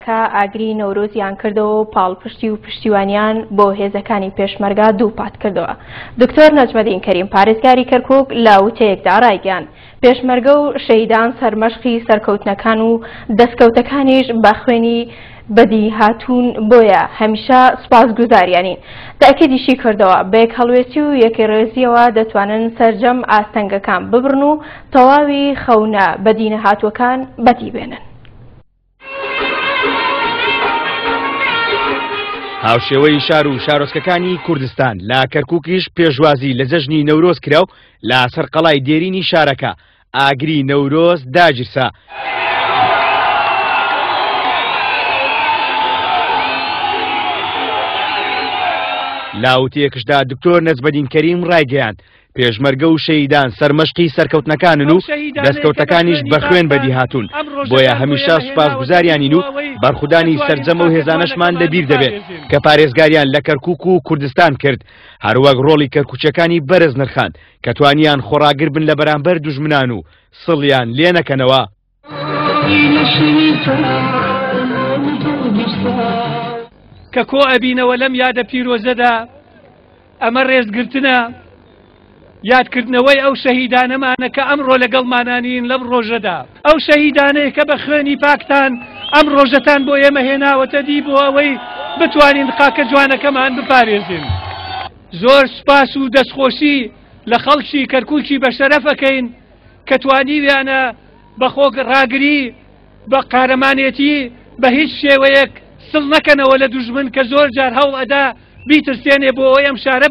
شارەکە ئاگری نەورۆزیان کردەوە و پاڵپشتی و پشتیوانیان بۆ هێزەکانی پێشمەرگە دووپات کردەوە. دکتۆر نەجمەدین کەریم پارێزگاری کەرکوک لە وتەیەکدا ڕایگەیاند، پێشمەرگە و شەهیدان سەرمەشقی سەرکەوتنەکان و دەستکەوتەکانیش بە خوێنی بەدی هاتوون بۆیە هەمیشە سوپاسگوزاریانین. تەئکیدیشی کردەوە، بە یەکهەڵوێستی و یەکڕێزییەوە دەتوانن سەرجەم ئاستەنگەکان ببڕن و تەواوی خەونە بەدینەهاتووەکان بەدی بێنن. هاوشێوەی شار و شارۆچکەکانی کوردستان لە کەرکووکیش پێشوازی لە جەژنی نەورۆز کرا و لە سەر قەڵای دێرینی شارەکە ئاگری نەورۆز داگیرسا. لە وتەیەکشدا دکتۆر نەجمەدین کەریم ڕایگەیاند، پێشمەرگە و شەهیدان سەرمەشقی سەرکەوتنەکانن و دەستکەوتەکانیش بە خوێن بەدیهاتوون، بۆیە هەمیشە سوپاسگوزاریانین و بەرخودانی سەرجەم ئەو هێزانەشمان لەبیر دەبێت کە پارێزگاریان لە کەرکوک و کوردستان کرد، هەروەک ڕۆڵی کەرکوکیەکانی بەرز نرخاند کە توانیان خۆڕاگر بن لە بەرامبەر دوژمنان و سڵیان لێنەکەنەوە. کە کۆ ئەبینەوە لەم یادە پیرۆزەدا، ئەمە ڕێزگرتنە، یادکردنەوەی ئەو شەهیدانەمانە کە ئەمڕۆ لەگەڵمانا نین لەم ڕۆژەدا، ئەو شەهیدانەیە کە بە خوێنی پاکتان ئەم ڕۆژەتان بۆ ئێمە هێناوەتە دی بۆ ئەوەی بتوانین خاکە جوانەکەمان بپارێزین. زۆر سوپاس و دەستخۆشی لە خەڵکی کەرکوکی بەشەرەف ئەکەین کە توانیویانە بە خۆڕاگری، بە قارەمانێتی، بە هیچ شێوەیەک سڵ نەکەنەوە لە دوژمن کە زۆر جار هەوڵ ئەدا بیترسێنێ بۆ ئەوەی ئەم شارە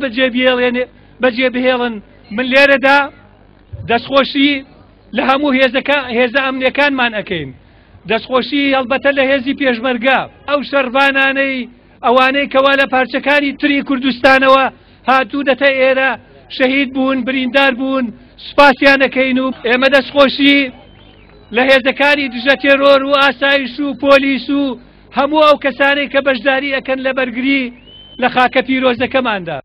بەجێ بهێڵن. من لێرەدا دەستخۆشی لە هەموو هێزە ئەمنیەکانمان ئەکەین، دەستخۆشی هەڵبەتە لە هێزی پێشمەرگە، ئەو شەڕڤانانەی ئەوانەی کەوا لە پارچەکانی تری کوردستانەوە هاتوونەتە ئێرە، شەهید بوون، بریندار بوون، سوپاسیان ئەکەین و ئێمە دەستخۆشی لە هێزەکانی دژە تێرۆر و ئاسایش و پۆلیس و هەموو ئەو کەسانەی کە بەشداری ئەکەن لە بەرگری لە خاکە پیرۆزەکەماندا.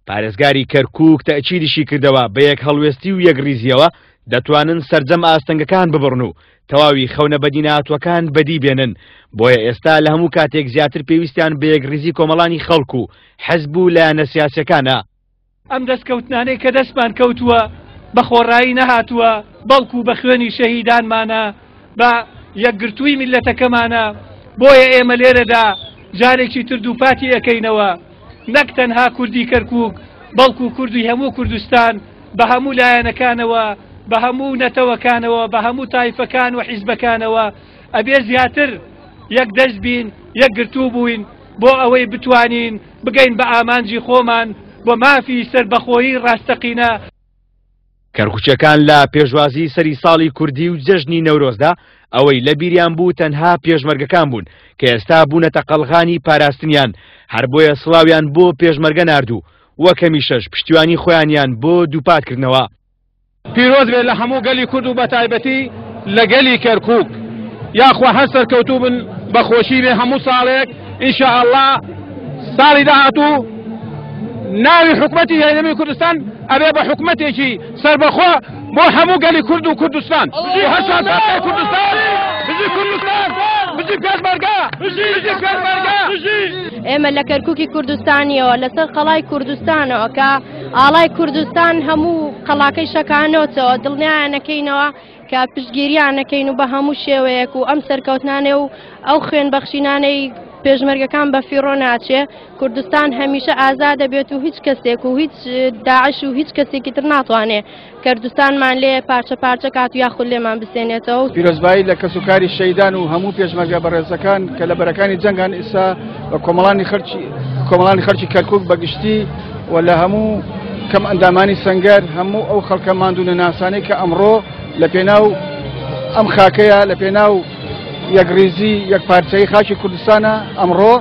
پارێزگاری کەرکووک تەئکیدیشی کردەوە، بە یەکهەڵوێستی و یەکڕیزییەوە دەتوانن سەرجەم ئاستەنگەکان ببڕن و تەواوی خەونە بەدینەهاتووەکان بەدی بێنن، بۆیە ئێستا لە هەموو کاتێک زیاتر پێویستیان بە یەکڕیزی کۆمەڵانی خەڵک و حزب و لایەنە سیاسیەکانە. ئەم دەستکەوتنانەی کە دەستمان کەوتووە بە خۆڕایی نەهاتووە، بەڵکو بە خوێنی شەهیدانمانە، بە یەکگرتووی میللەتەکەمانە، بۆیە ئێمە لێرەدا جارێکی تر دووپاتی ئەکەینەوە نەک تەنها کوردی کەرکووک، بەڵکو کوردی هەموو کوردستان بە هەموو لایەنەکانەوە، بە هەموو نەتەوەکانەوە، بە هەموو تایفەکان و حیزبەکانەوە ئەبێ زیاتر یەک دەست بین، یەکگرتوو بووین بۆ ئەوەی بتوانین بگەین بە ئامانجی خۆمان بۆ مافی سەربەخۆیی ڕاستەقینە. کەرکوکیەکان لە پێشوازی سەری ساڵی کوردی و جەژنی نەورۆزدا ئەوەی لە بیریان بوو تەنها پێشمەرگەکان بوون کە ئێستا بوونەتە قەڵغانی پاراستنیان، هەر بۆیە سڵاویان بۆ پێشمەرگە نارد و وەک هەمیشەش پشتیوانی خۆیانیان بۆ دووپات کردنەوە. پیرۆز بێت لە هەموو گەلی کورد و بەتایبەتی لە گەلی کەرکوک یاخوا هەر سەرکەوتوو بن بە خۆشی بێ هەموو ساڵێک ان شاء اللە ساڵی داهاتوو ناوی حکومەتی هەرێمی کوردستان ئەبێ بە حکومەتێکی سەربەخۆ بۆ هەموو گەلی کورد و کوردستان هەر کوردستان بژی کوردستان بژی پێشمەرگە بژی پێشمەرگە ئێمە لە کەرکوکی کوردستانیەوە لەسەر قەڵای کوردستانەوە کە ئاڵای کوردستان هەموو قەڵاکەی شەکانۆتەوە دڵنیایانەکەینەوە کە پشتگیریان نەکەین و بە هەموو شێوەیەک و ئەم سەرکەوتنانێ و ئەو خوێن بەخشینانەی پێشمەرگەکان بە فیڕۆ ناچێ کوردستان هەمیشە ئازادە بێت و هیچ کەسێک و هیچ داعش و هیچ کەسێکی تر ناتوانێ کەردستانمان لێ پارچە پارچە کات و یاخود لێمان بسێنێتەوە. پیرۆزبایی لە کەسوکاری شەیدان و هەموو پێشمەرگە بەڕێزەکان کە لە بەرەکانی جەنگان ئیسا و کۆمەڵانی خەرچی کۆمەڵانی خەرچی کەرکک بە گشتی و لە هەموو کەم ئەندامانی سەنگەر هەموو ئەو خەڵکە ماندوو نەناسانەی کە ئەمڕۆ لە پێناو ئەم خاکەیە لە پێناو یەکڕیزی یەکپارچەیی خاکی کوردستانە ئەمڕۆ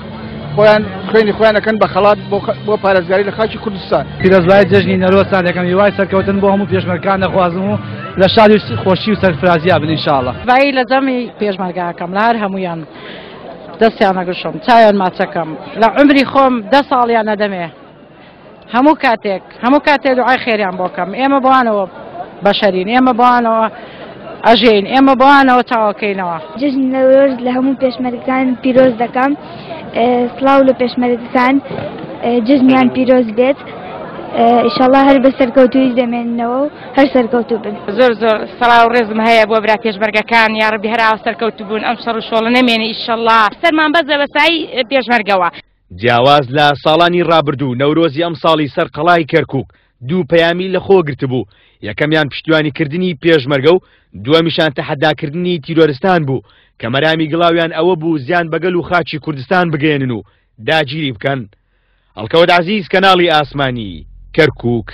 خۆیان خوێنی خۆیان ئەکەن بە خەڵات بۆ پارێزگاری لە خاکی کوردستان. پیرۆزبایی جەژنی نەورۆزتان دەکەم، هیوای سەرکەوتن بۆ هەموو پێشمەرگان دەخوازم و لە شادی و خۆشی و سەرفرازیا بن ان شاءاللە. بایی لە جەمی پێشمەرگە ئەکەم لە هەر هەموویان دەستیان ئەگوشم چاویان ماچەکەم لە عومری خۆم دە ساڵیان ئەدەمێ هەموو کاتێک هەموو کاتێ دوعای خێریان بۆ کەم ئێمە بەوانەوە بەشەرین ئێمە بەوانەوە ئەژێین ئێمە بەوانەوە چاوەکەینەوە. جەژنی نەورۆز لە هەموو پێشمەرگەکان پیرۆز دەکەم سڵاو لە پێشمەرگەکان جەژنیان پیرۆز بێت ئیشەڵا هەر بە سەرکەوتوویش دەمێننەوە و هەر سەرکەوتوو بن. زۆر زۆر سڵاو و ڕێزم هەیە بۆ برا پێشمەرگەکان یاڕەبی هەر ئاوا سەرکەوتوو بوون ئەم شەڕ و شۆڵە نەمێنێ ئیشەڵا سەرمان بەرزە بە سای پێشمەرگەوە. جیاواز لە ساڵانی ڕابردوو، نەورۆزی ئەمساڵی سەر قەڵای کەرکووک دوو پەیامی لەخۆ گرتبوو، یەکەمیان پشتیوانیکردنی پێشمەرگە و دووەمیشان تەحەداکردنی تیرۆرستان بوو کە مەرامی گڵاویان ئەوە بوو زیان بە گەل و خاکی کوردستان بگەیەنن و داگیری بکەن. هەڵکەوت عەزیز، کەناڵی ئاسمانی، کەرکووک.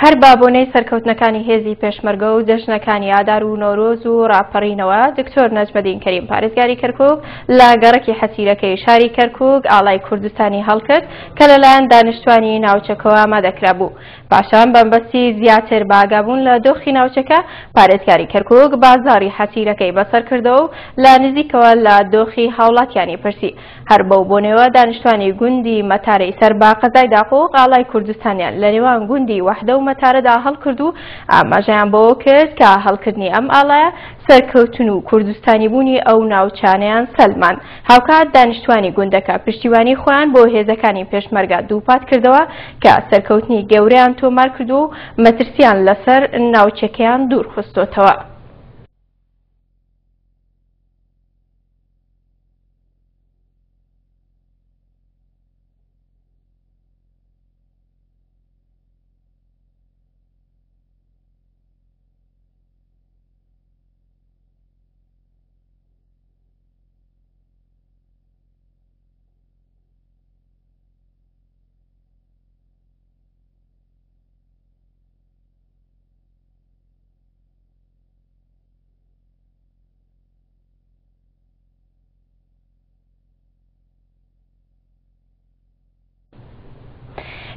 هەر بە بۆنەی سەرکەوتنەکانی هێزی پێشمەرگە و جەژنەکانی ئادار و نەورۆز و ڕاپەڕینەوە، دکتۆر نەجمەدین کەریم پارێزگاری کەرکووک لە گەڕەکی حەسیرەکەی شاری کەرکووک ئاڵای کوردستانی هەڵکرد کە لەلایەن دانیشتوانی ناوچەکەوە ئامادەکرابوو. پاشان بەمبەستی زیاتر بەئاگابوون لە دۆخی ناوچەکە، پارێزگاری کەرکووک بازاڕی حەسیرەکەی بەسەرکردەوە و لە نزیکەوە لە دۆخی هاوڵاتیانی پرسی. هەر بەو بۆنەوە دانیشتوانی گوندی مەتارەی سەر بە قەزای داقوق ئاڵای کوردستانیان لە نێوان گوندی وەحدە و مەتارەدا هەڵکرد و ئاماژەیان بەوە کرد کە هەڵکردنی ئەم ئاڵایە سەرکەوتن و کوردستانیبوونی ئەو ناوچانەیان سەلماند. هاوکات دانیشتوانی گوندەکە پشتیوانی خۆیان بۆ هێزەکانی پێشمەرگە دووپات کردەوە کە سەرکەوتنی گەورەیان تۆمار کردووە و مەترسیان لەسەر ناوچەکەیان دوورخستۆتەوە.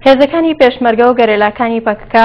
هێزەکانی پێشمەرگە و گەرێلاکانی پەکەکە.